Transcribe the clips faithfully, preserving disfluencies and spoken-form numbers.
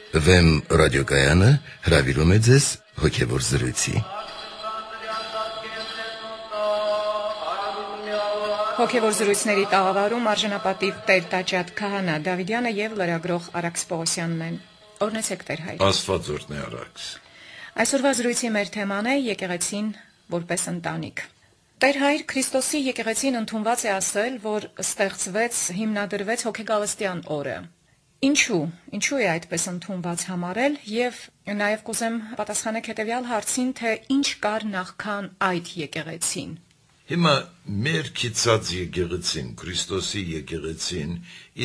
Վեմ ռադիոկայանը հրավիրում է ձեզ հոգևոր զրույցի։ Հոգևոր զրույցների տաղավարում արժանապատիվ Տեր Տաճատ Քահանա Դավիդյանը եւ լրագրող Արաքս Պողոսյանն են։ Օրհնեցեք Տեր հայր։ Աստված օրհնի Արաքս։ Այսօրվա զրույցի մեր թեման է եկեղեցին որպես ընտանիք։ Տեր հայր, Քրիստոսի եկեղեցին ընդունված է ասել, որ ստեղծվեց, հիմնադրվեց հոգեգալստյան օրը։ Ինչու, ինչու է այդպես ընդունված համարել եւ նաեւ կուզեմ պատասխանեք հետեւյալ հարցին, թե ինչ կար նախքան այդ եկեղեցին։ Հիմա մեր քիծած եկեղեցին, Քրիստոսի եկեղեցին,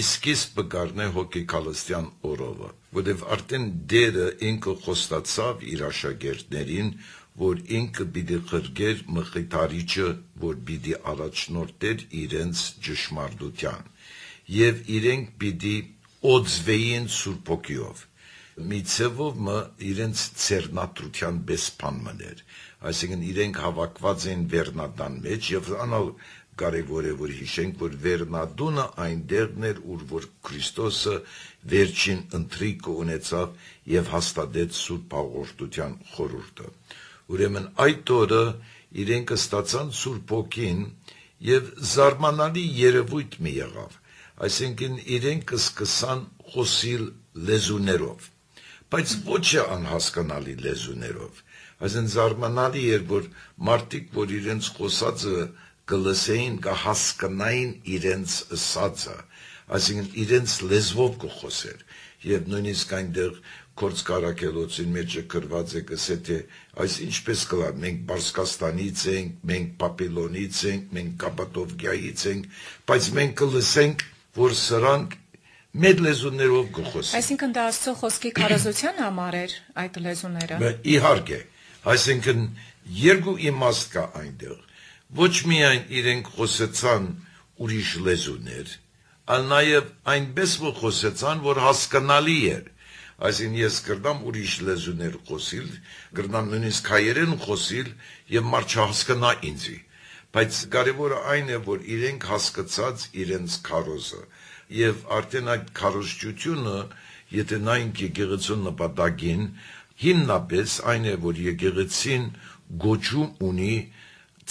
իսկիսպը կառնե հոգեգալստյան օրովը, որտեղ արդեն դերը ինքը խոստացավ իր աշակերտներին, որ ինքը պիտի խրգեր մխիթարիչը, որ պիտի առաջնորդեր իրենց ճշմարտության, եւ իրենք պիտի օծվեին Սուրբ Հոգիով, մի ցևով մը իրենց ցերնատրության բեսփան մներ, այսինքն իրենք հավաքված են վերնադան մեջ եւ անալ կարևոր է որ հիշենք, որ վերնադունը այնտեղն էր, ուր որ Քրիստոսը վերջին ընթրիկը ունեցավ եւ հաստատեց Սուրբ Հաղորդության խորհուրդը։ Ուրեմն այդ օրը իրենք ստացան Սուրբ Հոգին եւ զարմանալի երևույթ մի եղավ, այսինքն իրենք սկսան խոսիլ լեզուներով, բայց ոչ անհասկանալի լեզուներով, այսինքն զարմանալի էր, որ մարդիկ, որ իրենց խոսածը կլսեին, կհասկանային իրենց ասածը, այսինքն իրենց լեզվով կխոսեր, եւ նույնիսկ այնտեղ Կորց Կարակելոցին մեջ գրված է գսե թե այս ինչպես կլա, մենք Բարսկաստանից ենք, մենք Պապիլոնից ենք, մենք Կապադովկիայից ենք, բայց մենք կլսենք, որ սրանք մեր լեզուներով կխոսեն։ Այսինքն դա Աստծո խոսքի քարոզության համար էր այդ լեզուները։ Իհարկե, այսինքն երկու իմաստ կա այնտեղ։ Ոչ միայն իրենք խոսեցան ուրիշ լեզուներ, այլ նաև այնպես որ խոսեցան, որ հասկանալի էր։ Այսինքն ես կրնամ ուրիշ լեզուներ խոսիլ, կրնամ նույնիսկ հայերեն խոսիլ եւ մարդ չհասկանա ինձի, բայց կարևորը այն է, որ իրենք հասկացած իրենց քարոզը եւ արդեն այդ քարոզչությունը, եթե նայենք եկեղեցու նպատակին, հիմնապես այն է, որ եկեղեցին գոչում ունի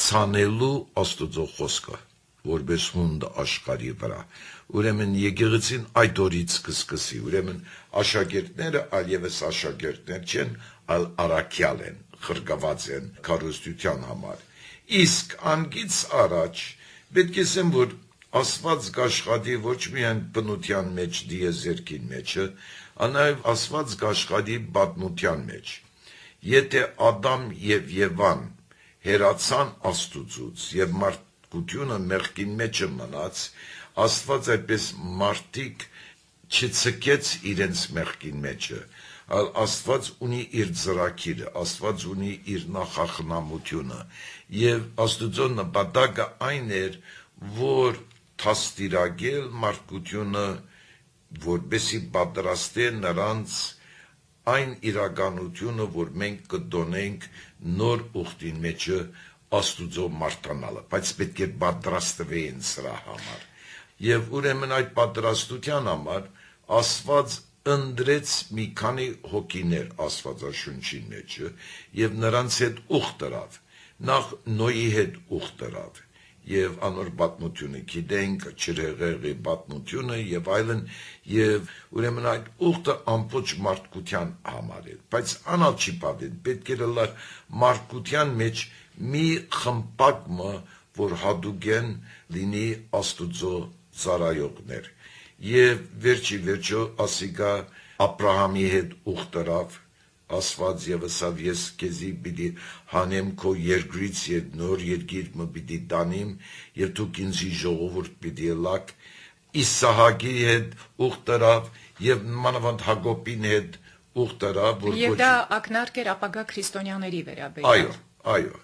ցանելու Աստծո խոսքը, որպես հունդ աշխարհի վրա։ Ուրեմն եկեղեցին այդ օրից կսկսի, ուրեմն աշակերտները այլևս աշակերտներ չեն, այլ առաքյալ են, խրկված են քարոզության համար։ Իսկ անգից առաջ պետք է ասեմ, որ Աստված կաշխատի ոչ միայն բնության մեջ դիեզերքին մեջը, այլ նաև Աստված կաշխատի պատմության մեջ։ Եթե Ադամ եւ Եվան հերացան Աստուծուց եւ մարդկությունը մեղքին մեջը մնաց, Աստված այդպես մարդիկ չցկեց իրենց մեղքին մեջը, այլ Աստված ունի իր ծրագիրը, Աստված ունի իր նախախնամությունը, եւ Աստուծո նպատակը այն էր, որ թաստիրագել մարդկությունը, որպեսի պատրաստե նրանց այն իրականությունը, որ մենք կդոնենք նոր ուխտին մեջը Աստուծո մարտանալը, բայց պետք է պատրաստվեին սրա համար։ Եվ ուրեմն այդ պատրաստության համար Աստված ընդրեց մի քանի հոգիներ Աստվածաշունչի մեջը եւ նրանց հետ ուխտ դրավ, նախ Նոյի հետ ուխտ դրավ եւ անոր պատմությունը գիտենք, Չրեղեղի պատմությունը եւ այլն, եւ ուրեմն այդ ուխտը ամբողջ մարդկության համար էր, բայց անալ չի պատեն, պետք է լար մարդկության մեջ մի խմպակը, որ հատուկ են լինի Աստուծո ծառայողներ, եւ վերջի վերջո ասիկա Աբրահամի հետ ուխտ դրավ, Աստված եւ ասավ ես քեզի պիտի հանեմ քո երկրից եւ նոր երկիր մը պիտի տանիմ եւ դու ինձի ժողովուրդ պիտի լակ, Իսահակի հետ ուխտ դրավ եւ մանավանդ Հակոբին հետ ուխտ դրավ, որ եւ դա ակնարկ էր ապագա քրիստոնյաների վերաբերյալ։ Այո, այո։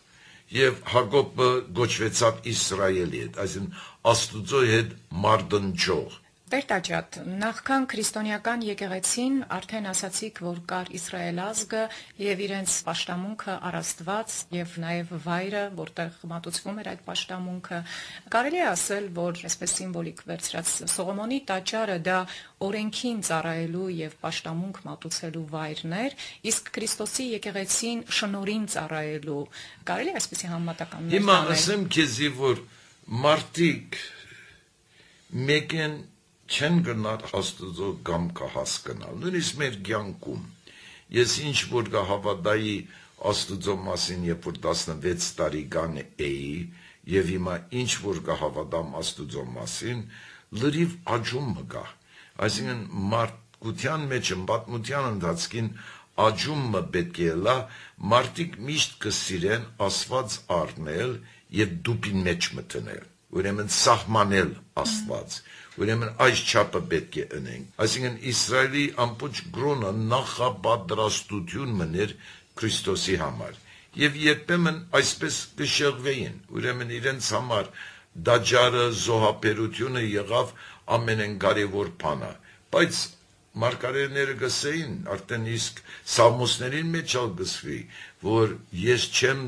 Եվ Հակոբը գոչվեցավ Իսրայելի հետ, այսինքն Աստուծո հետ մարդընջող, Տեր Տաճատ, նախքան քրիստոնեական եկեղեցին արդեն ասացիք, որ կար Իսրայել ազգը եւ իրենց պաշտամունքը առաստված եւ նաեւ վայրը, որտեղ մատուցվում էր այդ պաշտամունքը։ Կարելի է ասել, որ այսպես սիմվոլիկ վերցրած Սողոմոնի տաճարը դա օրենքին ծառայելու եւ պաշտամունք մատուցելու վայրն էր, իսկ Քրիստոսի եկեղեցին շնորհին ծառայելու։ Կարելի է այսպեսի համեմատականներ անել։ Հիմա ասեմ քեզի, որ մարդիկ մեկեն չեն գնալ Աստծո գամքը հասկանալ, նույնիսկ մեր կյանքում։ Ես ինչ որ կհավատայի Աստծո մասին, երբ որ տասնվեց տարեկան էի, եւ հիմա ինչ որ կհավատամ Աստծո մասին, լրիվ աճում մգա։ Այսինքն մարդկության մեջ, պատմության ընթացքին աճումը պետք է լա, մարդիկ միշտ կսիրեն Աստված առնել եւ դուպին մեջ մտնել, ուրեմն սահմանել Աստված, ուրեմն այս չափը պետք է ընենք։ Այսինքն Իսրայելի ամբողջ գրոնը նախապատրաստություն մներ Քրիստոսի համար, եւ երբեմն այսպես կշեղվեին, ուրեմն իրենց համար դաջարը, զոհաբերությունը եղավ ամենակարևոր բանը, բայց մարգարեները գսեին, արդեն իսկ Սաղմոսներին մեջ ալ գսվի, որ ես չեմ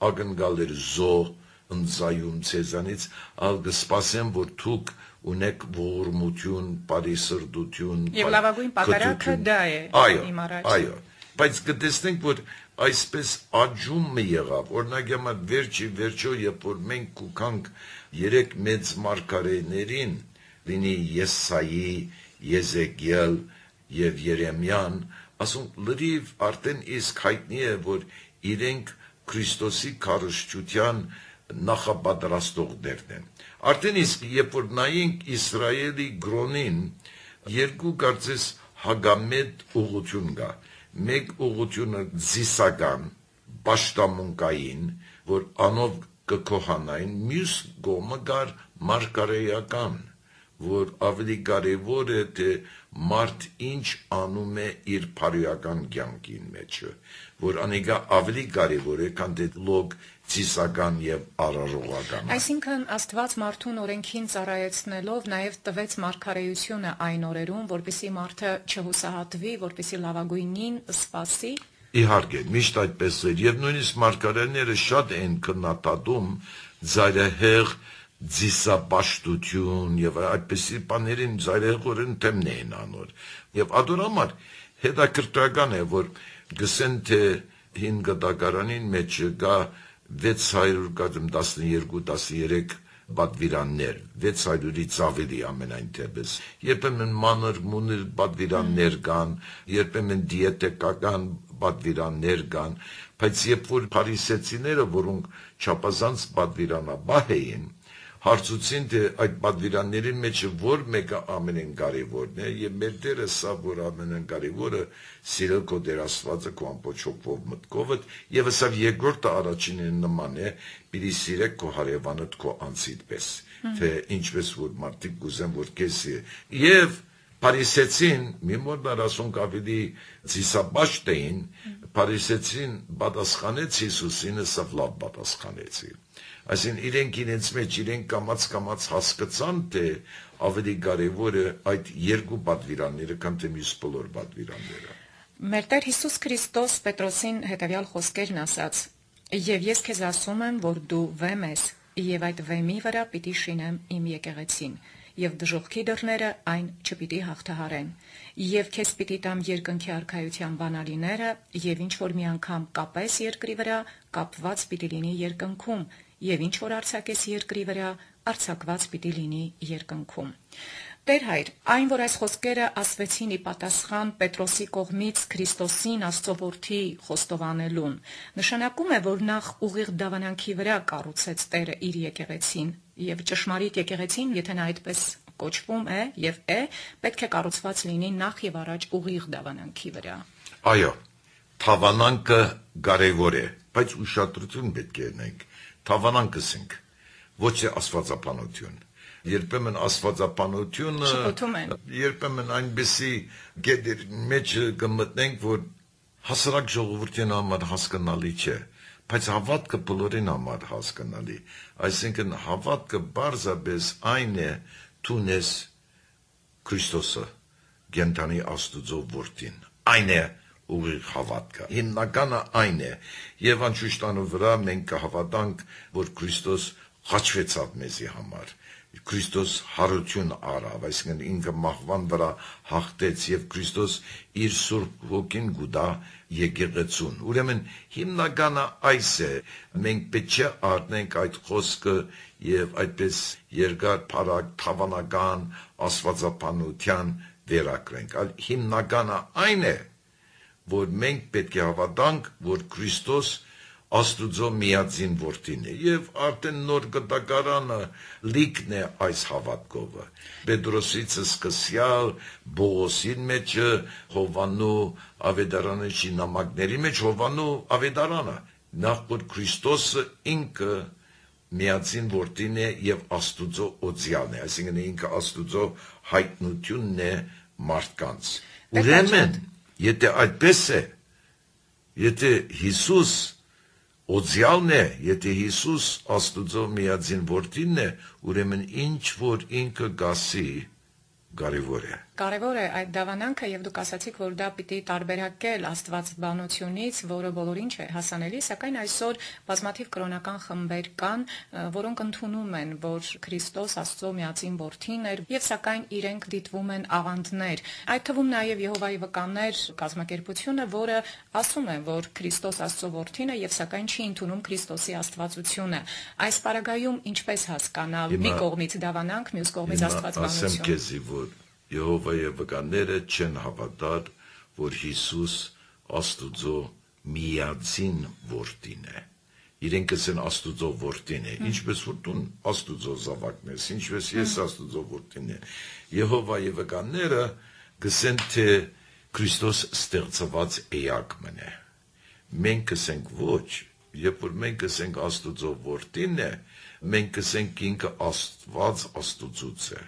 ակնկալել զոհ ընձայում ցեզանից, ալ կսպասեմ, որ դուք ունեք ողորմություն, բարիսրտություն, եւ լավագույն պատարագը դա է իմ առաջ։ Այո, բայց կտեսնենք, որ այսպես աճումը եղավ, օրինակ համար վերջի վերջո, երբ որ մենք կուքանք երեք մեծ մարգարեներին, լինի Եսայի, Եզեկիել եւ Երեմիան, ասում լրիվ արդեն իսկ հայտնի է, որ իրենք Քրիստոսի քարոզչության նախապատրաստողներն են։ Արդեն իսկ երբ որ նայենք Իսրայելի գրոնին, երկու կարծես հագամետ ուղղություն կա։ Մեկ ուղղությունը զիսական, պաշտամունքային, որ անով կքոհանային, մյուս կողմը կար մարգարեական, որ ավելի կարևոր է, թե մարդ ինչ անում է իր բարոյական կյանքին մեջը, որ անիկա ավելի կարևոր է, քան թե լոգ ցիսական եւ արարողական։ Այսինքն Աստված մարդուն օրենքին ծառայեցնելով նաև տվեց մարգարեությունը այն օրերում, որպեսզի մարդը չհուսահատվի, որպեսզի լավագույնին սպասի։ Իհարկե, միշտ այդպես էր, եւ նույնիսկ մարգարեները շատ են քննադատում ծայրահեղ ձիսապաշտություն եւ այդպիսի բաներին ծայրահեղորեն թեմն են անոր։ Եվ ադորամար հետաքրքրական է, որ գսեն թե հին գդակարանին մեջ կա վեց հարյուր տասներկու տասներեք պատվիրաններ, վեց հարյուրից ավելի ամենայն թեպս։ Երբեմն մանր մունր պատվիրաններ կան, երբեմն դիետեկական պատվիրաններ կան, բայց երբ որ փարիսեցիները, որոնք չափազանց պատվիրանաբահ էին, հարցուցին, թե այդ պատվիրանների մեջ որ մեկը ամենակարևորն է, եւ մեր Տերը սա, որ ամենակարևորը սիրել քո Տեր Աստվածը քո ամբողջ հոգով մտքովդ, եւ սա երկրորդը առաջինին նման է, պիտի սիրեք քո հարևանդ քո անձիդ պես, թե ինչպես որ մարդիկ կուզեն, որ քեզի եւ Փարիսեցին, մի մոտ ասոնք ավելի ցիսաբաշտ էին, Փարիսեցին պատասխանեց Հիսուսին, սա լավ պատասխանեցի։ Այսինքն իրենք իրենց մեջ իրենք կամաց կամաց հասկացան, թե ավելի կարևոր է այդ երկու պատվիրանները, քան թե մյուս բոլոր պատվիրանները։ Մեր Տեր Հիսուս Քրիստոս Պետրոսին հետևյալ խոսքերն ասաց. «Եվ ես քեզ ասում եմ, որ դու վեմ ես, եւ այդ վեմի վրա պիտի շինեմ իմ եկեղեցին, եւ դժոխքի դռները այն չպիտի հաղթահարեն, եւ քեզ պիտի տամ երկնքի արքայության բանալիները, եւ ինչ որ մի անգամ կապես երկրի վրա, կապված պիտի լինի երկնքում, եւ ինչ որ արձակես երկրի վրա, արձակված պիտի լինի երկնքում»։ Տեր հայր, այն որ այս խոսքերը ասվեցին ի պատասխան Պետրոսի կողմից Քրիստոսին Աստծո որդի խոստովանելուն, նշանակում է, որ նախ ուղիղ դավանանքի վրա կառուցեց Տերը իր եկեղեցին, եւ ճշմարիտ եկեղեցին, եթե նա այդպես կոչվում է եւ է, պետք է կառուցված լինի նախ եւ առաջ ուղիղ դավանանքի վրա։ Այո, թավանանքը կարևոր է, բայց ուշադրություն պետք է ունենք։ Թավանանքս ենք, ոչ թե աստվածապանություն։ Երբեմն աստվածապանությունը, երբեմն այնպեսի գետեր մեջ կմտնենք, որ հասարակ ժողովրդին համար հասկանալի չէ, բայց հավատքը բոլորին համար հասկանալի։ Այսինքն հավատքը բարձրապես այն է, դու ես Քրիստոսը գենտանի Աստուծո որդին։ Այն է ուղիղ հավատքը։ Հիմնականը այն է, եւ անշուշտանու վրա մենք կհավատանք, որ Քրիստոս խաչվեցավ մեզի համար։ Քրիստոս հարություն արավ, այսինքն ինքը մահվան վրա հաղթեց եւ Քրիստոս իր Սուրբ Ոգին գուտա եկեղեցուն։ Ուրեմն հիմնականը այս է, մենք պետք է առնենք այդ խոսքը եւ այդպես երկար փառակ թավանական աստվածապանության վերակրենք։ Այլ հիմնականը այն է, որ մենք պետք է հավատանք, որ Քրիստոս Աստուծո միածին որդին է եւ արդեն նոր գտակարանը լիքն է այս հավատքովը։ Պետրոսից սկսյալ Բողոսին մեջ Հովանու ավետարանը շինամակների մեջ Հովանու ավետարանը նախ որ Քրիստոսը ինքը միածին որդին է եւ Աստուծո օձյալն է, այսինքն ինքը Աստուծո հայտնությունն է մարդկանց։ Ուրեմն եթե այդպես է, եթե Հիսուս Օձյալն է, եթե Հիսուս Աստուծո միածին որդին է, ուրեմն ինչ որ ինքը գասի կարևոր է։ Կարևոր է այդ դավանանքը եւ դուք ասացիք, որ դա պիտի տարբերակել աստվածաբանությունից, որը բոլորին չէ հասանելի, սակայն այսօր բազմաթիվ կրոնական խմբեր կան, որոնք ընդունում են, որ Քրիստոս Աստծո միածին որդին էր եւ սակայն իրենք դիտվում են աղանդներ։ Այդ թվում նաեւ Եհովայի վկաններ կազմակերպությունը, որը ասում է, որ Քրիստոս Աստծո որդին է եւ սակայն չի ընդունում Քրիստոսի աստվածությունը։ Այս պարագայում ինչպես հասկանալ մի կողմից դավանանք, մյուս կողմից աստվածաբանություն։ Եհովայի վկաները չեն հավատալ, որ Հիսուս Աստուծո միածին որդին է։ Իրենք կսեն Աստուծո որդին է, ինչպես որ դու Աստուծո զավակն ես, ինչպես ես Աստուծո որդին է։ Եհովայի վկաները կսեն թե Քրիստոս ստեղծված էակն է։ Մենք կսենք ոչ, երբ որ մենք կսենք Աստուծո որդին է, մենք կսենք ինքը Աստված Աստուծուց է։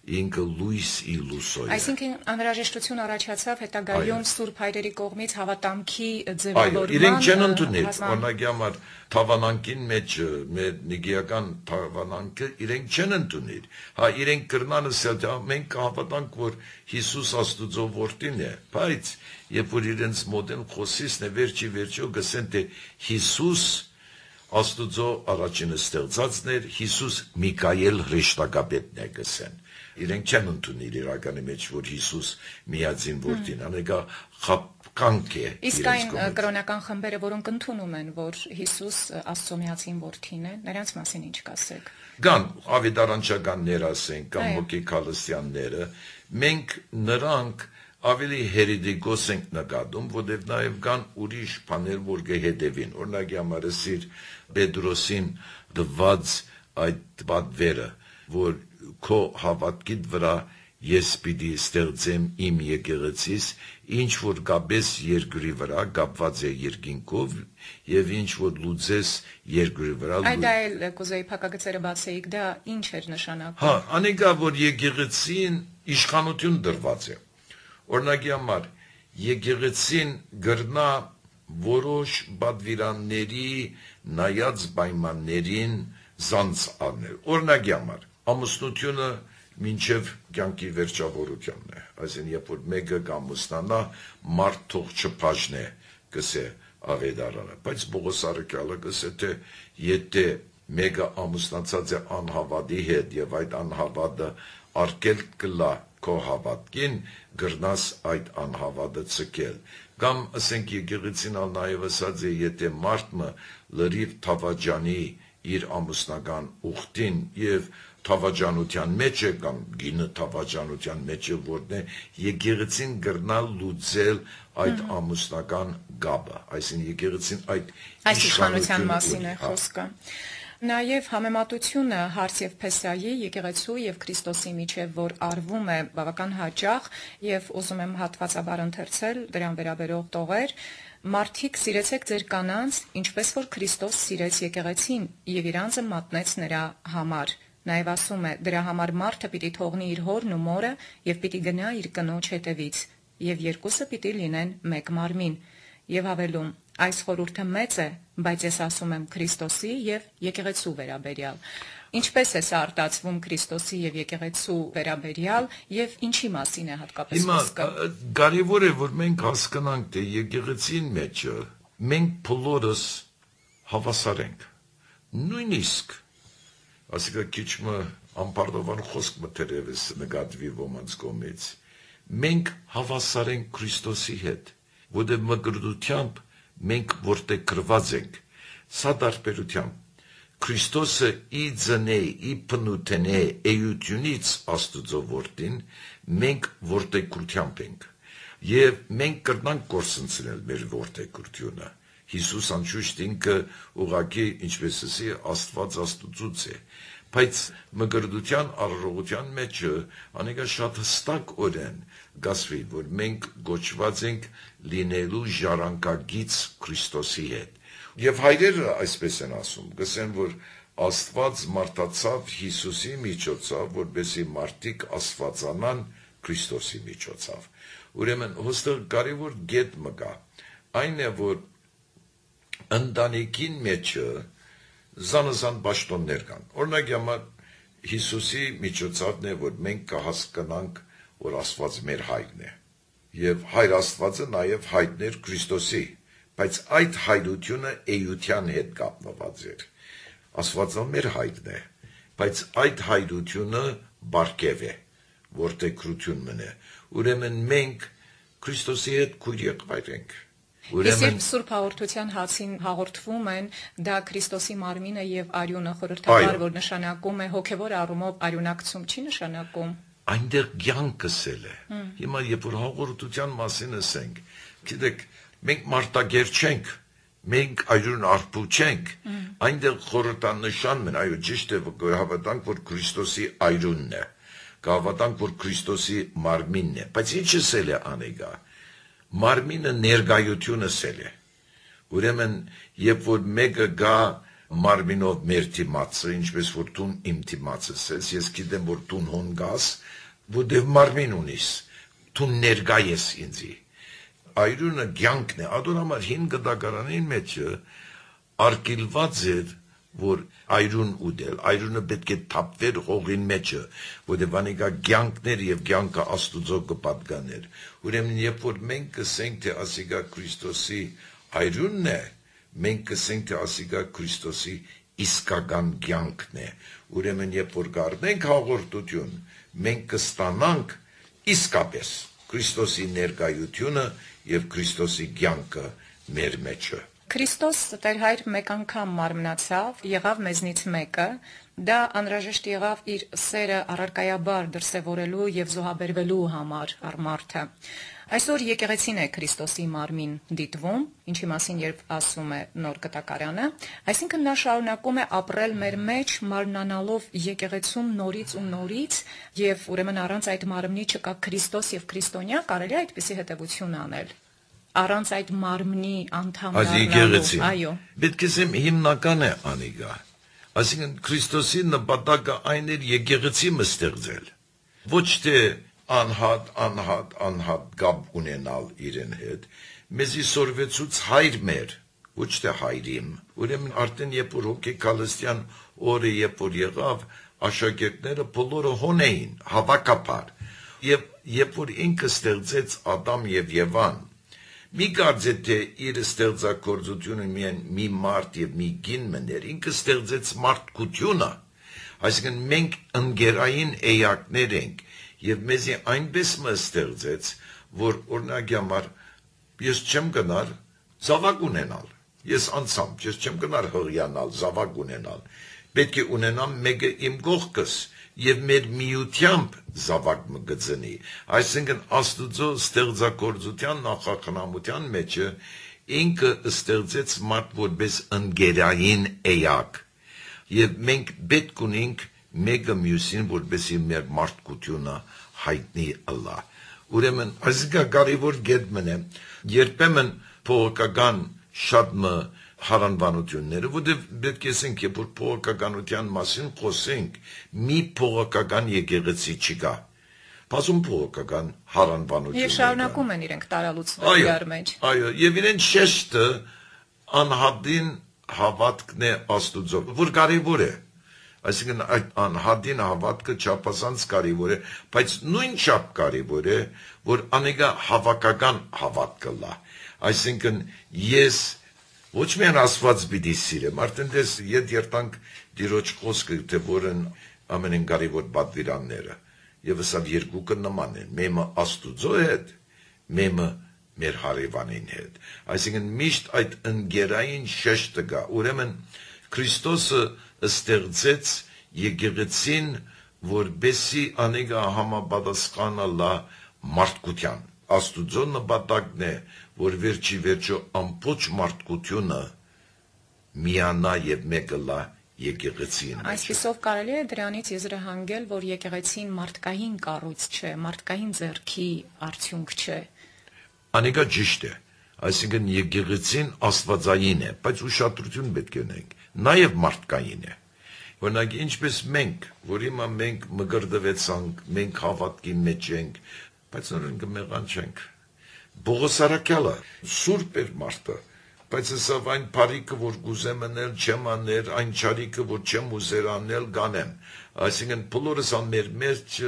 Ինքը լույս ի լուսո է։ Այսինքն անհրաժեշտություն առաջացավ հետագայում Սուրբ Հայրերի կողմից հավատամքի ձևավորման։ Այո, իրենք չեն ընդունել, օրինակի համար թավանանքին մեջ մեր նիգիական թավանանքը իրենք չեն ընդունել։ Հա, իրենք կրնան ասել, մենք կհավատանք, որ Հիսուս Աստուծո որդին է, բայց երբ որ իրենց մոդեն խոսիսն է վերջի վերջո գսեն թե Հիսուս Աստուծո առաջինը ստեղծածն էր, Հիսուս Միքայել հրեշտակապետն է գսեն։ Իրենք չեն ընդունել իրականի մեջ, որ Հիսուս միածին որդին է, անեկա խապկանք է։ Իսկ այն կրոնական խմբերը, որոնք ընդունում են, որ Հիսուս Աստծո միածին որդին է, նրանց մասին ինչ կասեք։ Կան ավետարանչականներ ասենք, կամ հոգեկալստյանները, մենք նրանք ավելի հերիդիկոս ենք նկատում, որտեղ նաև կան ուրիշ բաներ, որ կհետևին։ Օրինակի համար ասիր Պետրոսին դված այդ պատվերը, որ քո հավատքիդ վրա ես պիտի ստեղծեմ իմ եկեղեցիս, ինչ որ կապես երկրի վրա, կապված է երկինքով, եւ ինչ որ լուծես երկրի վրա։ Այդ այլ կուզեի փակագծերը բացեիք, դա ինչ էր նշանակում։ Հա, անիկա որ եկեղեցին իշխանություն դրված է։ Օրինակի համար եկեղեցին գրնա որոշ բադվիրանների նայած պայմաններին զանց առնել։ Օրինակի համար ամուսնությունը մինչև կյանքի վերջավորությունն է, այսինքն երբ որ մեկը կամուսնանա, մարդ թող չփաժնե, կսե ավետարանը, բայց Պողոս առաքյալը կսե թե եթե մեկը ամուսնացած է անհավատի հետ եւ այդ անհավատը արկել կլա քո հավատքին, գրնաս այդ անհավատը ցկել։ Կամ ասենք եկեղեցին ալ նաեւ ասած է, եթե մարդը լրիվ թավաջանի իր ամուսնական ուխտին եւ թավաջանության մեջ է կամ գինը թավաջանության մեջ է որն է եկեղեցին գրնալ լուծել այդ ամուսնական գաբը, այսինքն եկեղեցին այդ իշխանության մասին է խոսքը։ Նաև համեմատությունը Հարց եւ Փեսայի եկեղեցու եւ Քրիստոսի միջև, որ արվում է բավական հաճախ եւ ուզում եմ հատվածաբար ընթերցել դրան վերաբերող տողեր, մարդիկ սիրեցեք ձեր կանանց, ինչպես որ Քրիստոս սիրեց եկեղեցին եւ իր անձը մատնեց նրա համար։ Նաև ասում է, դրա համար մարդը պիտի թողնի իր հորն ու մորը եւ պիտի գնա իր կնոջ հետևից, եւ երկուսը պիտի լինեն մեկ մարմին։ Եվ հավելում, այս խորհուրդը մեծ է, բայց ես ասում եմ Քրիստոսի եւ եկեղեցու վերաբերյալ։ Ինչպես է սա արտացվում Քրիստոսի եւ եկեղեցու վերաբերյալ եւ ինչի մասին է հատկապես Հիմա խոսքը։ կարևոր է որ մենք հասկանանք թե եկեղեցին մեջը մենք բոլորս հավասար ենք։ Նույնիսկ ասիկա քիչմը ամբարդովան խոսք մտերևս նկատվի ոմանց կողմից։ Մենք հավասար ենք Քրիստոսի հետ, որտեղ մկրտությամբ մենք որտեղ գրված ենք, սա դարբերությամբ Քրիստոսը ի ձնե, ի փնութենե էությունից Աստուծո որդին, մենք որտեղությամբ ենք, եւ մենք կրնանք կորսնցնել մեր որտեղությունը։ Հիսուս անշուշտ ինքը ուղղակի ինչպես ասի Աստված Աստուծուց է, բայց մկրտության առողջության մեջ անիկա շատ հստակ օրեն գասվի, որ մենք գոչված ենք լինելու ժառանգագից Քրիստոսի հետ։ Եվ հայրերը այսպես են ասում, գսեն, որ Աստված մարդացավ Հիսուսի միջոցով, որպեսզի մարդիկ աստվածանան Քրիստոսի միջոցով։ Ուրեմն հստակ կարևոր գետ մկա, այն է, որ ընտանիքին մեջը զանազան պաշտոններ կան։ Օրինակ համար Հիսուսի միջոցովն է, որ մենք կհասկանանք, որ Աստված մեր հայրն է։ Եվ հայր Աստվածը նաև հայրն էր Քրիստոսի, բայց այդ հայրությունը էության հետ կապնված էր։ Աստվածը մեր հայրն է, բայց այդ հայրությունը բարգև է, որտեղ քրություն մնե։ Ուրեմն մենք Քրիստոսի հետ քույր եղբայր ենք։ Ուրեմն Սուրբ Հաղորդության հացին հաղորդվում են դա Քրիստոսի մարմինը եւ արյունը խորհրդավոր, որ նշանակում է հոգեվոր առումով արյունակցում, չի նշանակում։ Այնտեղ կյանքսել է։ Հիմա երբ որ հաղորդության մասին ասենք, գիտեք, մենք մարտագեր չենք, մենք այրուն արփու չենք, այնտեղ խորհրդանշանն է, այո, ճիշտ է, հավատանք, որ Քրիստոսի այրունն է, կհավատանք, որ Քրիստոսի մարմինն է, բայց ինչ էսել է անեգա։ Մարմինը ներգայությունը սել է։ Ուրեմն, երբ որ մեկը գա մարմինով մեր թիմացը, ինչպես որ տուն իմ թիմացը սես, ես գիտեմ, որ տուն հոն գաս, որտեղ մարմին ունիս, տուն ներգա ես ինձի։ Այրունը կյանքն է, ադոր համար հին գդակարանին մեջը արկիլված էր, որ այրուն ուդել, այրունը պետք է թափվեր հողին մեջը, որտեղ վանիկա կյանքներ եւ կյանքը Աստուծո կպատկաներ։ Ուրեմն երբ որ մենք կսենք թե ասիկա Քրիստոսի այրունն է, մենք կսենք թե ասիկա Քրիստոսի իսկական կյանքն է։ Ուրեմն երբ որ գարնենք հաղորդություն, մենք կստանանք իսկապես Քրիստոսի ներկայությունը եւ Քրիստոսի կյանքը մեր մեջը։ Քրիստոս Տեր հայր մեկ անգամ մարմնացավ, եղավ մեզնից մեկը, դա անհրաժեշտ եղավ իր սերը առարկայաբար դրսևորելու եւ զոհաբերվելու համար առ մարդը։ Այսօր եկեղեցին է Քրիստոսի մարմին դիտվում, ինչի մասին երբ ասում է նոր կտակարանը, այսինքն նա շարունակում է ապրել մեր մեջ մարմնանալով եկեղեցում նորից ու նորից, եւ ուրեմն առանց այդ մարմնի չկա Քրիստոս եւ քրիստոնյա, կարելի է այդպիսի հետևություն անել։ Առանց այդ մարմնի անդամ դառնալու, այո։ Պետք է ասեմ հիմնական է անիգա։ Այսինքն Քրիստոսի նպատակը այն էր եկեղեցի մստեղծել։ Ոչ թե անհատ, անհատ, անհատ գաբ ունենալ իրեն հետ։ Մեզի սորվեցուց հայր մեր, ոչ թե հայրիմ։ Ուրեմն արդեն երբ որ հոգեկալստյան օրը երբ որ եղավ, աշակերտները բոլորը հոն էին, հավաքապար։ Եվ երբ որ ինքը ստեղծեց Ադամ եւ Եվան, մի կարծե թե իր ստեղծագործությունը միայն մի մարդ եւ մի գին մներ, ինքը ստեղծեց մարդկությունը, այսինքն մենք ընկերային էակներ ենք եւ մեզի այնպես մը ստեղծեց, որ օրինակ համար ես չեմ գնար զավակ ունենալ, ես անցամ, ես չեմ գնար հղիանալ, զավակ ունենալ, պետք է ունենամ մեկը իմ կողքս եւ մեր միությամբ զավակ մը գծնի, այսինքն Աստուծո ստեղծագործության նախախնամության մեջը ինքը ստեղծեց մարդ որպես ընկերային էակ եւ մենք պետք ունենք մեկը մյուսին որպեսի մեր մարդկությունը հայտնի ըլլա։ Ուրեմն այսինքն կարևոր գետ մնե երբեմն փողոքական շատ մը հարանվանությունները, որտեղ պետք է ասենք, երբ որ փողոքականության մասին խոսենք, մի փողոքական եկեղեցի չկա։ Բազում փողոքական հարանվանություններ։ Եվ շարունակում են իրենք տարալուծվել իրար մեջ։ Այո, եւ իրեն շեշտը անհատին հավատքն է Աստուծո, որ կարևոր է։ Այսինքն այդ անհատին հավատքը չափազանց կարևոր է, բայց նույն չափ կարևոր է, որ անեգա հավաքական հավատքը լա։ Այսինքն ես ոչ միայն Աստված պիտի սիրեմ, արդեն դες ետ երտանք դիրոջ խոսքը, թե որն ամենեն կարևոր պատվիրանները, եւ սա երկուքը նման են, մեմը Աստուծո հետ, մեմը մեր հարևանին հետ։ Այսինքն միշտ այդ ընկերային շեշտը կա, ուրեմն Քրիստոսը ստեղծեց եկեղեցին, որբեսի անեգա համապատասխանը լա մարդկության։ Աստուծո նպատակն է, որ վերջի վերջո ամբողջ մարդկությունը միանա եւ մեկը լա եկեղեցին։ Այսպիսով կարելի է դրանից եզրահանգել, որ եկեղեցին մարդկային կառույց չէ, մարդկային ձեռքի արդյունք չէ։ Անեգա ճիշտ է, այսինքն եկեղեցին աստվածային է, բայց ուշադրություն պետք է ունենք, նաև մարդկային է։ Օրինակ ինչպես մենք, որ հիմա մենք մգրդվեցանք, մենք հավատքի մեջ ենք, բայց նորեն կմեղանչենք։ Պողոս Արաքյալը սուրբ էր մարդը, բայց հսա այն բարիքը, որ գուզեմ անել, չեմ անել, այն չարիքը, որ չեմ ուզեր անել, կանեմ։ Այսինքն բոլորս մեր մեջ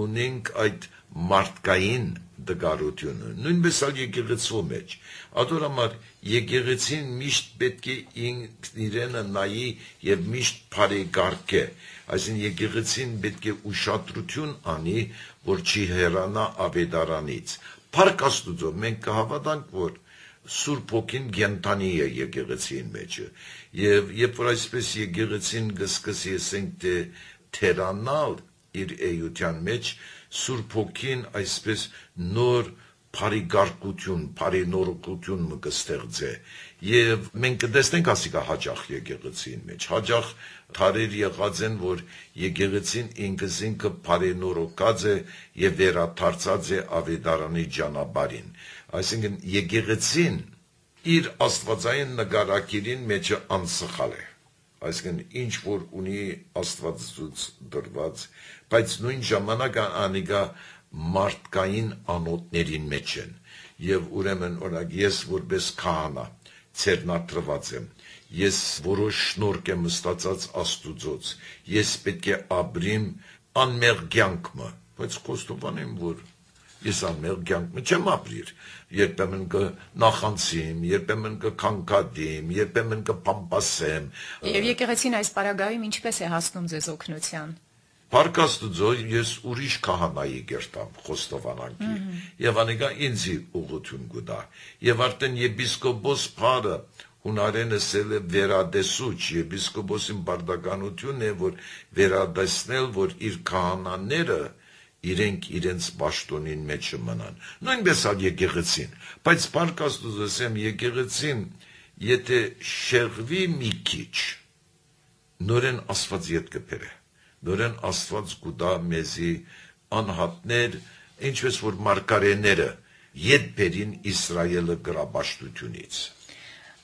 ունենք այդ մարդկային դգարությունը, նույնպես ալ եկեղեցու մեջ։ Ադոր համար եկեղեցին միշտ պետք է իրենը նայի եւ միշտ բարեկարգե։ Այսինքն եկեղեցին պետք է ուշադրություն անի, որ չի հեռանա ավետարանից։ Փառք Աստուծո, մենք կհավատանք, որ Սուրբ Հոգին գենտանի է եկեղեցին մեջը, եւ երբ որ այսպես եկեղեցին գսկսի ասենք թե թերանալ իր էյության մեջ, Սուրբ Հոգին այսպես նոր բարիգարկություն, բարենորոգություն մը կստեղծե, եւ մենք կտեսնենք ասիկա հաճախ եկեղեցին մեջ, հաճախ թարեր եղած են, որ եկեղեցին ինքս ինքը բարենորոգած է եւ վերադարձած է ավետարանի ճանապարհին։ Այսինքն եկեղեցին իր աստվածային նկարակիրին մեջը անսխալ է, այսինքն ինչ որ ունի Աստվածուց դրված, բայց նույն ժամանակ անիկա մարդկային անոթներին մեջ են, եւ ուրեմն օրինակ ես որպես քահանա ցերնատրված եմ, ես որոշ շնորհք եմ ստացած Աստուծոց, ես պետք է ապրիմ անմեղ կյանքը, բայց կոստովանեմ, որ ես անմեղ կյանքը չեմ ապրիր, երբեմն կնախանցիմ, երբեմն կքանքադիմ, երբեմն կպամպասեմ։ Եվ եկեղեցին այս պարագայում ինչպես է հասնում ձեզ օգնության։ Փառք Աստուծո, ես ուրիշ քահանայի կերտամ խոստովանանքի, եւ անիկա ինձի ուղղություն կտա, եւ արդեն եպիսկոպոս Փարը հունարենը սել է վերադեսուչ, եպիսկոպոսին բարդականությունն է, որ վերադեսնել, որ իր քահանաները իրենք իրենց պաշտոնին մեջ մնան։ Նույնպես ալ եկեղեցին, բայց Փառք Աստուծո, ասեմ եկեղեցին, եթե շեղվի մի քիչ, նորեն Աստված ետ կբերե, նորեն Աստված կուտա մեզի անհատներ, ինչպես որ մարգարեները ետ բերին Իսրայելը գրապաշտությունից։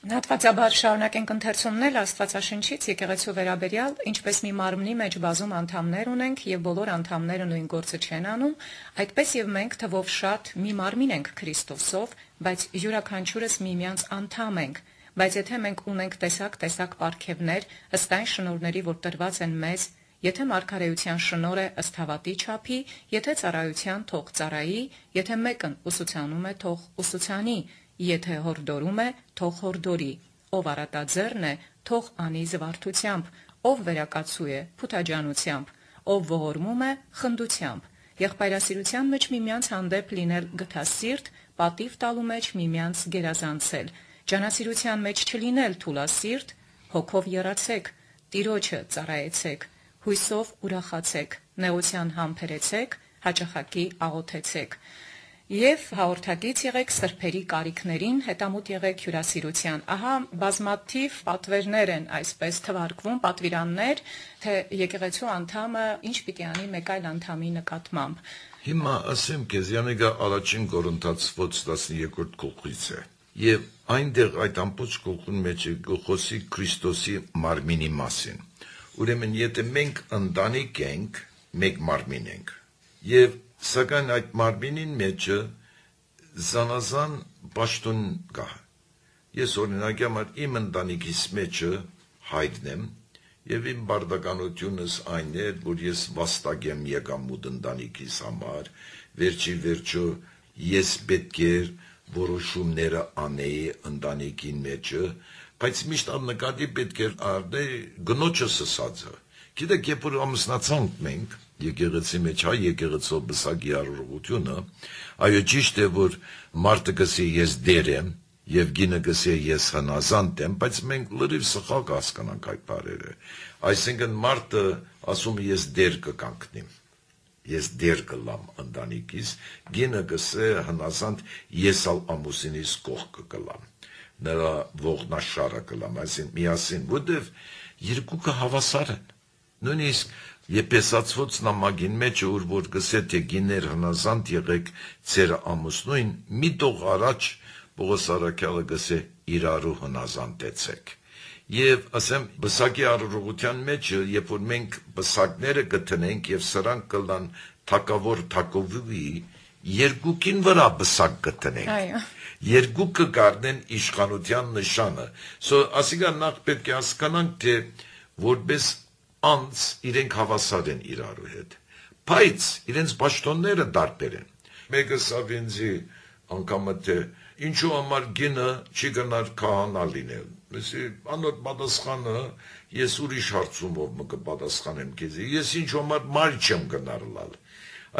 Հատվածաբար շարունակենք ընթերցումնել Աստվածաշնչից եկեղեցու վերաբերյալ, ինչպես մի մարմնի մեջ բազում անդամներ ունենք եւ բոլոր անդամները նույն գործը չեն անում, այդպես եւ մենք թվով շատ մի մարմին ենք Քրիստոսով, բայց յուրաքանչյուրս միմյանց անդամ ենք, բայց եթե մենք ունենք տեսակ-տեսակ պարգևներ, ըստ այն շնորհների, որ տրված են մեզ, եթե մարգարեության շնորհ է ըստ հավատի չափի, եթե ծառայության թող ծառայի, եթե մեկն ուսուցանում է թող ուսուցանի, եթե հորդորում է, թող հորդորի, ով առատաձեռն է, թող անի զվարթությամբ, ով վերակացու է, փութաջանությամբ, ով ողորմում է, խնդությամբ, եղբայրասիրության մեջ միմյանց հանդեպ լինել գթասիրտ, պատիվ տալու մեջ միմյանց գերազանցել, ջանասիրության մեջ չլինել թուլասիրտ, հոգով եռացեք, Տիրոջը ծառայեցեք, հույսով ուրախացեք, նեղության համբերեցեք, հաճախակի աղոթեցեք։ Եվ հաղորդակից եղեք սրբերի կարիքներին, հետամուտ եղեք հյուրասիրության։ Ահա բազմաթիվ պատվերներ են այսպես թվարկվում, պատվիրաններ, թե եկեղեցու անդամը ինչ պիտի անի մեկ այլ անդամի նկատմամբ։ Հիմա ասեմ քեզ, Յանեգա առաջին Կորինթացոց տասներկրորդ գլխից է։ Եվ այնտեղ այդ ամբողջ գլխուն մեջ գլխոսի Քրիստոսի մարմինի մասին։ Ուրեմն եթե մենք ընտանիք ենք, մեկ մարմին ենք։ Եվ սակայն այդ մարմինին մեջը զանազան պաշտոն կա։ Ես օրինակ համար իմ ընտանիքիս մեջը հայրն եմ, Եվ իմ բարդականությունս այն էր, որ ես վաստակ եմ եկամուտ ընտանիքիս համար, վերջի վերջո ես պետք էր որոշումները անեի ընտանիքին մեջը, բայց միշտ նկատի պետք էր առնել գնոջս ասածը։ Գիտեք, երբ որ ամուսնացանք մենք, եկեղեցի մեջ հայ եկեղեցու բսակի արարողությունը, այո ճիշտ է, որ մարդը գսի ես դեր եմ, եւ գինը գսի ես հնազանդ եմ, բայց մենք լրիվ սխալ կհասկանանք այդ բառերը։ Այսինքն մարդը ասում է ես դեր կկանգնեմ, ես դեր կլամ ընտանիքիս, գինը գսե հնազանդ ես ալ ամուսինիս կողքը կլամ, նրա ողնաշարը կլամ, այսինքն միասին, որտեվ երկուքը հավասար են։ Նույնիսկ Եփեսացված նամակին մեջ որ որ գսե թե գիներ հնազանդ եղեք ձեր ամուսնույն, մի տող առաջ Պողոս առաքյալը գսե իրարու հնազանդեցեք։ Եվ ասեմ բսակի արարողության մեջ, երբ որ մենք բսակները գտնենք եւ սրանք կլան թակավոր թակովի, երկուքին վրա բսակ գտնենք։ Այո։ Երկուքը կառնեն իշխանության նշանը։ Սո ասիկա նախ պետք է հասկանանք, թե որպես անց իրենք հավասար են իրարու հետ, բայց իրենց պաշտոնները դարբեր են։ Մեկը սավինձի անգամ թե ինչու համար գինը չի գնար քահանա լինել։ Մեսի անոր պատասխանը ես ուրիշ հարցումով մը կպատասխանեմ քեզի։ Ես ինչու համար մայր չեմ գնարլալ։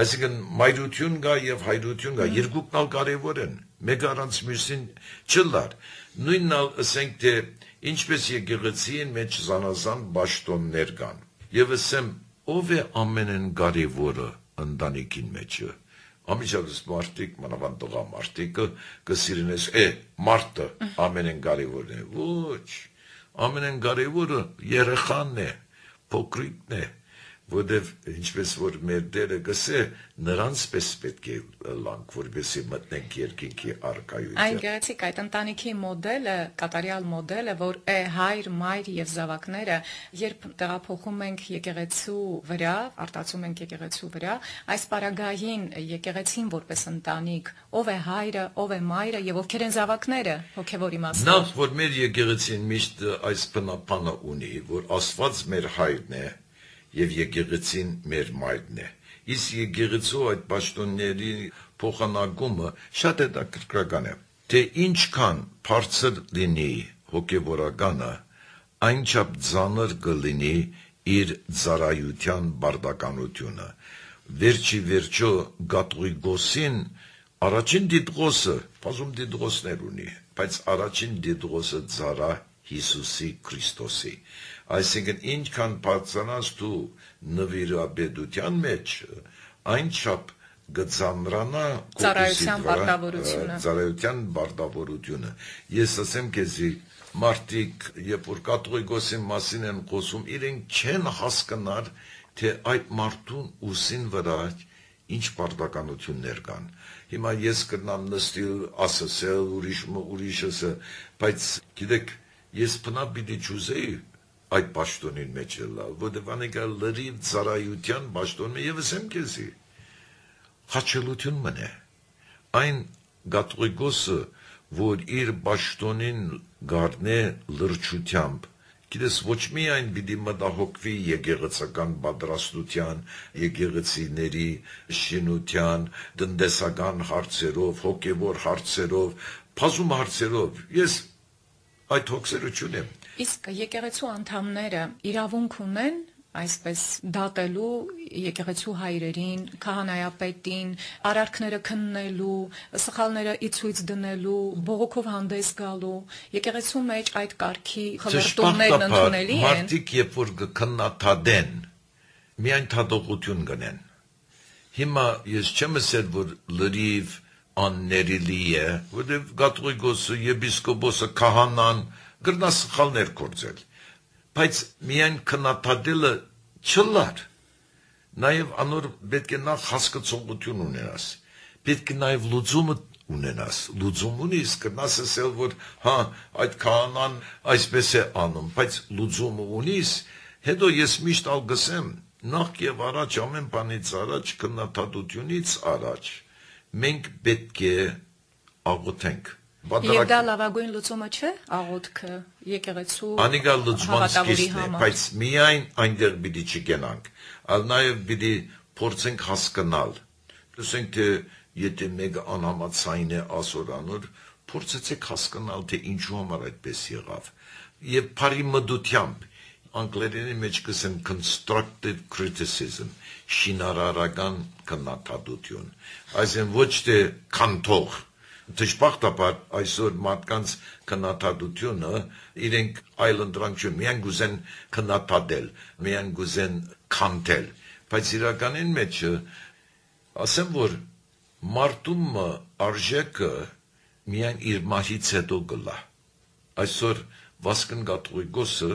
Այսինքն մայրություն կա եւ հայրություն կա, երկուքն ալ կարեւոր են։ Մեկը առանց մյուսին չլար։ Նույնն ալ ասենք թե ինչպես եկեղեցին մեջ զանազան պաշտոններ կան։ Եվ ասեմ, ով է ամենեն կարևորը ընտանիքին մեջը։ Ամիջապես մարդիկ, մանավանդ տղամարդիկը կսիրնես, է, մարդը ամենեն կարևորն է։ Ոչ, ամենեն կարևորը երեխան է, փոքրիկն է, որտեվ ինչպես որ մեր դերը գսե, նրանց պես պետք է լանք, որպեսզի մտնենք երկինքի առկայության։ Այն գեղեցիկ այդ ընտանիքի մոդելը, կատարյալ մոդելը, որ է հայր, մայր եւ զավակները, երբ տեղափոխում ենք եկեղեցու վրա, արտացում ենք եկեղեցու վրա, այս պարագային եկեղեցին որպես ընտանիք, ով է հայրը, ով է մայրը եւ ովքեր են զավակները, հոգեվոր իմաստով։ Նախ որ մեր եկեղեցին միշտ այս բնապանը ունի, որ Աստված մեր հայրն է եւ եկեղեցին մեր մայրն է։ Իսկ եկեղեցու այդ պաշտոնների փոխանակումը շատ հետաքրքրական է, թե ինչքան բարձր լինի հոգեվորականը, այնչափ ծանր կլինի իր ծառայության բարդականությունը։ Վերջի վերջո Գաթողիկոսին առաջին դիտողը, բազում դիտողներ ունի, բայց առաջին դիտողը ծառա Հիսուսի Քրիստոսի։ Այսինքն ինչքան բարձրանաս դու նվիրաբեդության մեջ, այնչափ գծամրանա ծառայության բարդավորությունը։ Ծառայության բարդավորությունը։ Ես ասեմ քեզի մարդիկ, երբ որ կաթողիկոսի մասին են խոսում, իրենք չեն հասկանար, թե այդ մարդուն ուսին վրա ինչ բարդականություններ կան։ Հիմա ես կնամ նստել, ասել, ուրիշ ուրիշը, բայց գիտեք, ես բնավ պիտի չուզեի այդ պաշտոնին մեջ լալ, որտեղ անեկա լրիվ ծառայության պաշտոնը եւ ասեմ քեզի հաճելություն մնե այն գաթողիկոսը, որ իր պաշտոնին գարնե լրջությամբ, գիտես ոչ միայն պիտի մտահոգվի եկեղեցական պատրաստության, եկեղեցիների շինության, տնտեսական հարցերով, հոգևոր հարցերով, բազում հարցերով, ես այդ հոգսերություն եմ։ Իսկ եկեղեցու անդամները իրավունք ունեն այսպես դատելու եկեղեցու հայրերին, քահանայապետին, արարքները քննելու, սխալները ի ցույց դնելու, բողոքով հանդես գալու, եկեղեցու մեջ այդ կարգի խորհուրդներն ընդունելի են։ Մարդիկ երբ որ կքննադատեն, միայն թադողություն կնեն։ Հիմա ես չեմ ասել, որ լրիվ աններելի է, որտեղ գաթողիկոսը, եպիսկոպոսը, քահանան գրնա սխալներ կործել, բայց միայն քննադատելը չլար, նաև անոր պետք է նախ հասկացողություն ունենաս, պետք է նաև լուծումը ունենաս, լուծում ունիս, կնաս ասել, որ հա, այդ քահանան այսպես է անում, բայց լուծումը ունիս, հետո ես միշտ ալ գսեմ, նախ եւ առաջ ամեն բանից առաջ, քննադատությունից առաջ, մենք պետք է աղոթենք, Եվ դա լավագույն լուծումը չէ, աղոթքը եկեղեցու Անիկա լուծման սկիզբն է, բայց միայն այնտեղ պիտի չգնանք, այլ նաև պիտի փորձենք հասկանալ։ Լսենք թե եթե մեկը անհամաձայն է ասորանոր, փորձեցեք հասկանալ թե ինչու համար այդպես եղավ։ Եվ բարի մտությամբ անգլերենի մեջ կսեն constructive criticism, շինարարական քննադատություն, այսինքն ոչ թե կանթող, դժբախտաբար այսօր մարդկանց քննադատությունը իրենք այլընտրանք չուն, միայն գուզեն քննադատել, միայն գուզեն կանթել, բայց իրականին մեջ ասեմ, որ մարդումը արժեքը միայն իր մահից հետո գլա, այսօր Վասկն Կաթողիկոսը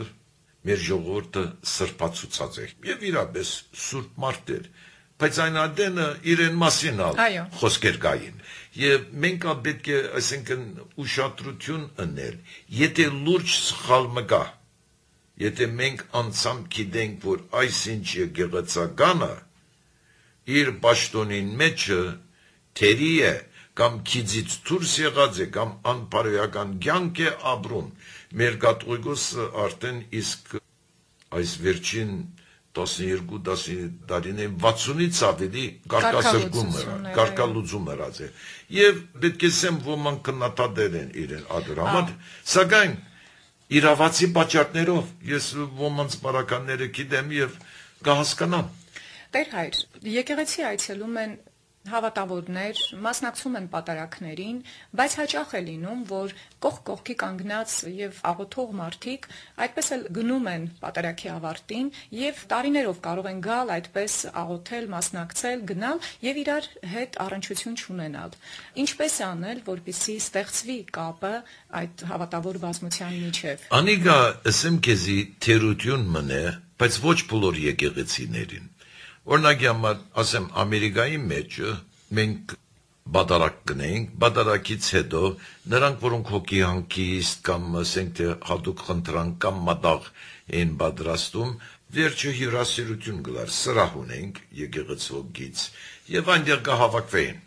մեր ժողովուրդը սրբացուցած է եւ իրապես սուրբ մարդ էր, բայց այն ադենը իրեն մասին ալ խոսքեր կային եւ մենք պետք է այսինքն ուշադրություն ընել, եթե լուրջ սխալ մգա, եթե մենք անցամ գիտենք, որ այսինչ եկեղեցականը իր պաշտոնին մեջը թերի է կամ քիզից դուրս եղած է կամ անպարոյական կյանք է ապրում մեր կաթողիկոսը արդեն իսկ այս վերջին տասնյոթ տարիներին վաթսունից ավելի կարկասրգում էր, կարկալուծում եղած է եւ պետք է ասեմ ոմանք քննադատել են իրեն ադր համար, սակայն իրավացի պատճառներով ես ոմանց բարականները գիտեմ եւ կհասկանամ։ Տեր հայր, եկեղեցի այցելում են հավատավորներ, մասնակցում են պատարակներին, բայց հաճախ է լինում, որ կողք կողքի կանգնած եւ աղոթող մարդիկ այդպես էլ գնում են պատարակի ավարտին եւ տարիներով կարող են գալ այդպես աղոթել, մասնակցել, գնալ եւ իրար հետ առնչություն չունենալ։ Ինչպես անել, որպեսզի ստեղծվի կապը այդ հավատավոր բազմության միջև։ Անիկա ասեմ քեզի թերություն մնե, բայց ոչ բոլոր եկեղեցիներին։ Օրինակ համար, ասեմ, Ամերիկայի մեջ մենք բադարակ կնենք, բադարակից հետո նրանք, որոնք հոգի հանգիստ կամ ասենք թե հատուկ խնդրանք կամ մատաղ են պատրաստում, վերջը հյուրասիրություն գլար, սրահ ունենք եկեղեցուից եւ այնտեղ կհավաքվեն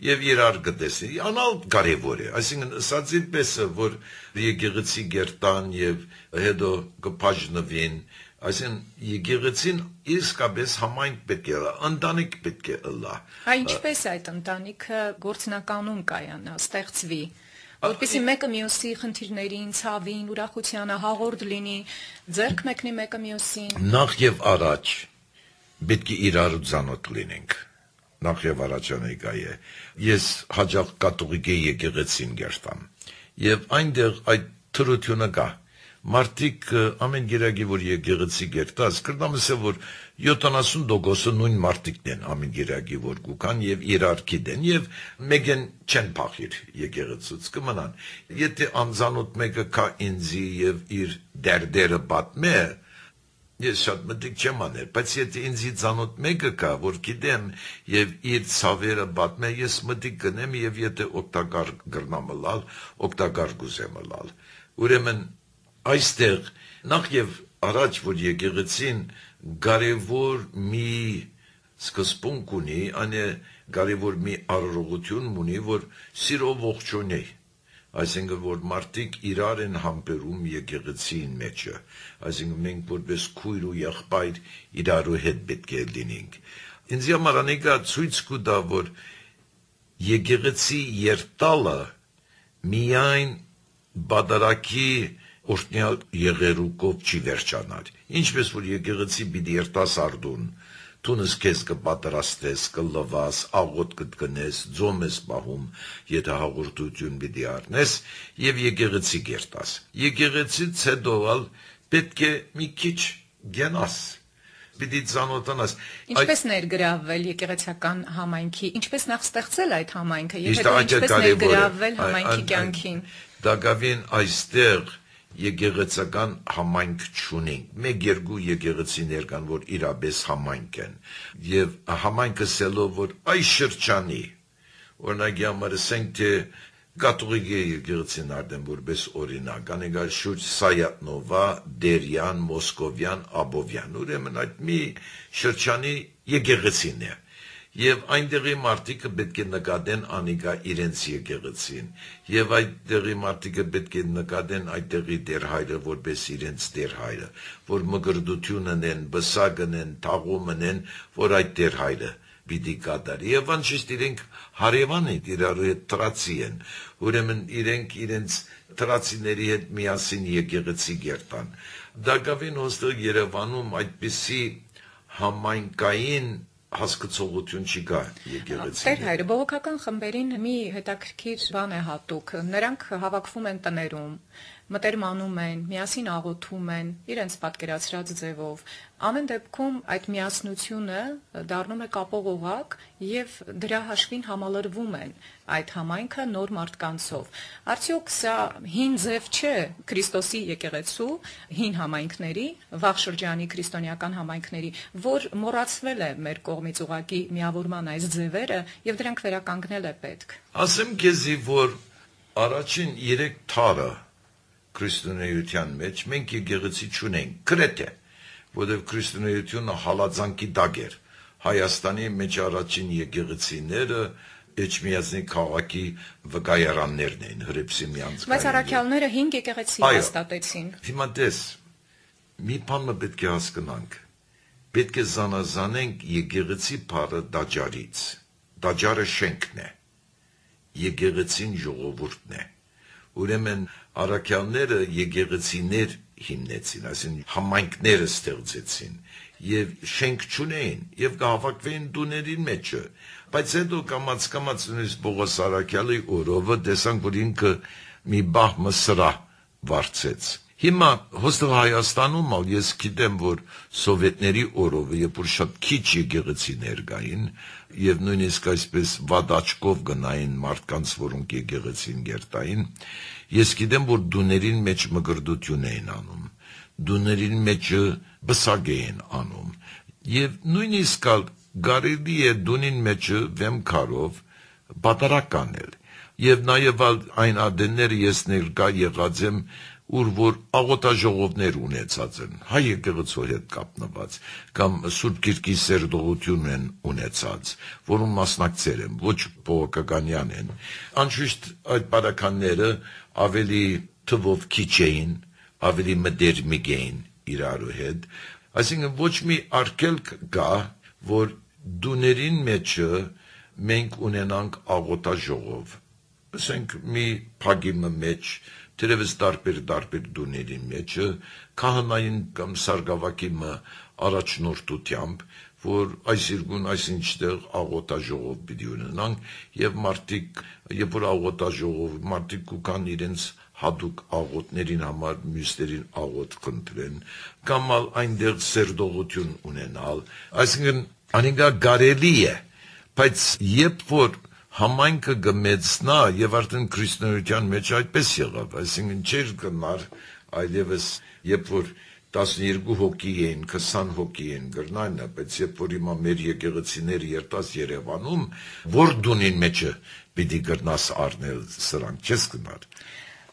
եւ իրար կտեսնեն։ Անալ կարեւոր է, այսինքն ասածի պես որ եկեղեցի գերտան եւ հետո կփաժնվեն, այսինքն եկեղեցին իսկապես համայնք պետք է, ընտանիք պետք է ըլլա։ Հա ինչպես այդ ընտանիքը գործնականում կայանա, ստեղծվի, որպեսզի մեկը մյուսի խնդիրներին, ցավին, ուրախությանը հաղորդ լինի, ձեռք մեկնի մեկը մյուսին։ Նախ եւ առաջ պետք է իրար ծանոթ լինենք։ Նախ եւ առաջ անեկա է։ Ես հաջող կաթողիկ եկեղեցին գերտամ եւ այնտեղ այդ թրությունը կա։ Մարդիկ ամեն գերագի որ եկեղեցի գերտած կրնամս է որ յոթանասուն տոկոսը նույն մարդիկն են ամեն գերագի որ գուքան եւ իրար գիտեն եւ մեկեն չեն փախիր եկեղեցուց կմնան եթե անզանոթ մեկը կա ինձի եւ իր դերդերը պատմե ես շատ մտիկ չեմ անել բայց եթե ինձի ծանոթ մեկը կա որ գիտեմ եւ իր ցավերը պատմե ես մտիկ կնեմ եւ եթե օգտակար գրնամլալ օգտակար գուզեմլալ ուրեմն այստեղ նախ եւ առաջ որ եկեղեցին կարևոր մի սկզբունք ունի, անը կարևոր մի արարողություն ունի, որ սիրով ողջունի, այսինքն որ մարդիկ իրար են համբերում եկեղեցին մեջը, այսինքն մենք որպես քույր ու եղբայր իրարու հետ պետք է լինենք։ Ինձ համար անիկա ցույց կտա, որ եկեղեցի երտալը միայն բادرակի Օրտնյալ եղերուկով չի վերջանալ։ Ինչպես որ եկեղեցի պիտի երտաս արդուն, տունս քեզ կպատրաստես, կլվաս, աղոտ կտնես, ձոմ ես պահում, եթե հաղորդություն պիտի առնես, եւ եկեղեցի գերտաս։ Եկեղեցից հետո պետք է մի քիչ գնաս, պիտի ծանոթանաս։ Ինչպես ներգրավվել եկեղեցական համայնքի, ինչպես նախ ստեղծել այդ համայնքը, եւ հետո ինչպես ներգրավվել համայնքի կյանքին։ Դակավին այստեղ եկեղեցական համայնք չունենք։ Մեկ երկու եկեղեցիներ կան, որ իրապես համայնք են։ Եվ համայնքը սելով, որ այս շրջանի, օրինակ համար ասենք, թե կաթողիկ եկեղեցին արդեն որպես օրինակ, անեկալ շուրջ Սայատնովա, Դերյան, Մոսկովյան, Աբովյան, ուրեմն այդ մի շրջանի եկեղեցին է։ Եվ այնտեղի մարդիկը պետք է նկատեն անիկա իրենց եկեղեցին, եւ այդտեղի մարդիկը պետք է նկատեն այդտեղի դերհայրը որպես իրենց դերհայրը, որ մգրդություն ունեն, բսակ ունեն, թաղում ունեն, որ այդ դերհայրը պիտի կատարի, եւ անշիշտ իրենք հարևան են, իրար հետ տրացի են, ուրեմն իրենք իրենց տրացիների հետ միասին եկեղեցի գերտան։ Դակավին հոստեղ Երևանում այդպիսի համայնքային հասկացողություն չկա եկեղեցի։ Տեր հայրը բողոքական խմբերին մի հետաքրքիր բան է հատուկ, նրանք հավաքվում են տներում, մտերմանում են, միասին աղոթում են, իրենց պատկերացրած ձևով։ Ամեն դեպքում այդ միասնությունը դառնում է կապող օղակ եւ դրա հաշվին համալրվում են այդ համայնքը նոր մարդկանցով։ Արդյոք սա հին ձև չէ Քրիստոսի եկեղեցու, հին համայնքների, վաղ շրջանի քրիստոնեական համայնքների, որ մոռացվել է մեր կողմից ուղակի միավորման այս ձևերը եւ դրանք վերականգնել է պետք։ Ասեմ քեզի, որ առաջին երեք թարը քրիստոնեության մեջ մենք եկեղեցի չունենք, գրեթե, որովհետև քրիստոնեությունը հալածանքի տակ էր։ Հայաստանի մեջ առաջին եկեղեցիները Էջմիածնի քաղաքի վկայարաններն էին, Հռիփսիմի անցկայինը։ Բայց առաքյալները հինգ եկեղեցի հաստատեցին։ Հիմա տես, մի բան պետք է հասկանանք։ Պետք է զանազանենք եկեղեցի բառը դաջարից։ Դաջարը շենքն է։ Եկեղեցին ժողովուրդն է։ Ուրեմն առաքյալները եկեղեցիներ հիմնեցին, այսինքն համայնքներ ստեղծեցին եւ շենք չունեին եւ կհավաքվեին տուների մեջը, բայց հետո կամաց կամաց նույնիսկ Պողոս առաքյալի օրովը տեսանք, որ ինքը մի բահ մսրա վարձեց։ Հիմա հոստեղ Հայաստանում ալ ես գիտեմ, որ սովետների օրովը, երբ որ շատ քիչ եկեղեցիներ կային եւ նույնիսկ այսպես վադաչկով գնային մարդկանց, որոնք եկեղեցին գերտային, ես գիտեմ, որ դուներին մեջ մգրդություն էին անում, դուներին մեջը բսակ էին անում եւ նույնիսկ գարելի է դունին մեջը վեմ քարով բատարակ կանել եւ նաեւ այն ադենները ես ներկա եղած եմ, ուր որ աղոթաժողովներ ունեցած են, հայ եկեղեցու հետ կապնված, կամ Սուրբ Գիրքի սերտողություն են ունեցած, որում մասնակցել եմ, ոչ բողոքականյան են։ Անշուշտ այդ բարականները ավելի թվով քիչ էին, ավելի մտերմիկ էին իրարու հետ, այսինքն ոչ մի արգելք կա, որ դուներին մեջը մենք ունենանք աղոթաժողով, ասենք մի փագի մեջ Թերևս տարբեր-տարբեր դուների մեջը քահանային կամ սարգսակի առաջնորդությամբ, որ այս իրգուն այսինչտեղ աղոթաժողով պիտի ունենանք եւ մարդիկ, երբ որ աղոթաժողով մարդիկ կան իրենց հատուկ աղոթներին համար մյուսներին աղոթ կընտրեն, կամ այնտեղ սերտողություն ունենալ, այսինքն անիկա կարելի է, բայց երբ որ համայնքը գմեցնա եւ արդեն քրիստոնեության մեջ այդպես եղավ, այսինքն չէր գնար այլևս, երբ որ տասնյոթ հոգի էին, քսան հոգի էին գրնայնը, բայց երբ որ հիմա մեր եկեղեցիները երտաս Երևանում, որ դունին մեջը պիտի գրնաս առնել սրանք, չես գնար։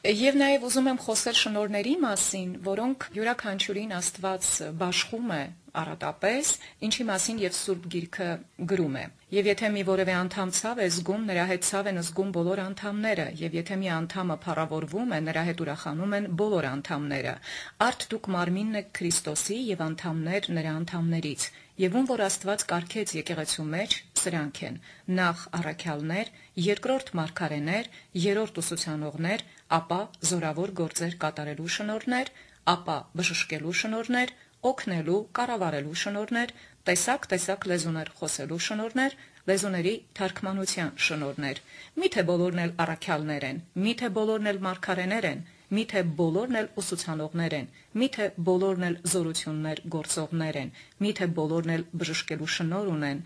Եվ նաև ուզում եմ խոսել շնորհների մասին, որոնք յուրաքանչյուրին Աստված բաշխում է առատապես, ինչի մասին եւ Սուրբ Գիրքը գրում է։ Եվ եթե մի որևէ անդամ ցավ է զգում, նրա հետ ցավ են զգում բոլոր անդամները, եւ եթե մի անդամը փառավորվում է, նրա հետ ուրախանում են բոլոր անդամները։ Արդ դուք մարմինն եք Քրիստոսի եւ անդամներ նրա անդամներից։ Եվ ում որ Աստված կարգեց եկեղեցու մեջ, սրանք են. նախ առաքյալներ, երկրորդ մարգարեներ, երրորդ ուսուցանողներ, ապա զորավոր գործեր կատարելու շնորհներ, ապա բժշկելու շնորհներ, օգնելու, կառավարելու շնորհներ, տեսակ-տեսակ լեզուներ խոսելու շնորհներ, լեզուների թարգմանության շնորհներ։ Միթե բոլորն էլ առաքյալներ են, միթե բոլորն էլ մարգարեներ են, միթե բոլորն էլ ուսուցանողներ են, միթե բոլորն էլ զորություններ գործողներ են, միթե բոլորն էլ բժշկելու շնորհ ունեն,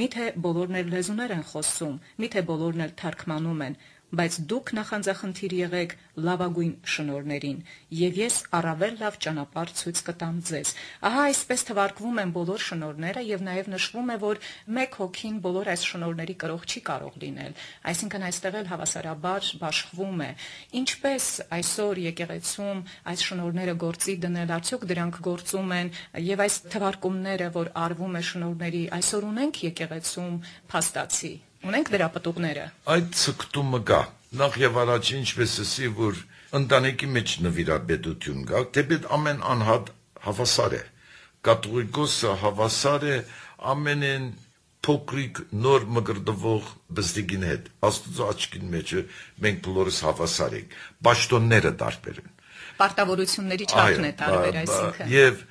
միթե բոլորն էլ լեզուներ են խոսում, միթե բոլորն էլ թարգմանում են, բայց դուք նախանձախնդիր եղեք լավագույն շնորհներին, եւ ես առավել լավ ճանապարհ ցույց կտամ ձեզ։ Ահա այսպես թվարկվում են բոլոր շնորհները եւ նաեւ նշվում է, որ մեկ հոգին բոլոր այս շնորհների կրող չի կարող լինել, այսինքն այստեղ էլ հավասարաբար բաշխվում է։ Ինչպես այսօր եկեղեցում այս շնորհները գործի դնել, արդյոք դրանք գործում են եւ այս թվարկումները, որ արվում է շնորհների, այսօր ունենք եկեղեցում փաստացի, ունենք դրա պտուղները։ Այդ ցկտումը կա։ Նախ եւ առաջ ինչպես ասի, որ ընտանիքի մեջ նվիրաբեդություն կա, թեպետ ամեն անհատ հավասար է։ Կաթողիկոսը հավասար է ամենեն փոքրիկ նոր մկրտվող բստիկին հետ։ Աստծո աչքին մեջ մենք բոլորս հավասար ենք։ Պաշտոնները տարբեր են։ Պարտավորությունների չափն է տարբեր, այսինքն։ Եվ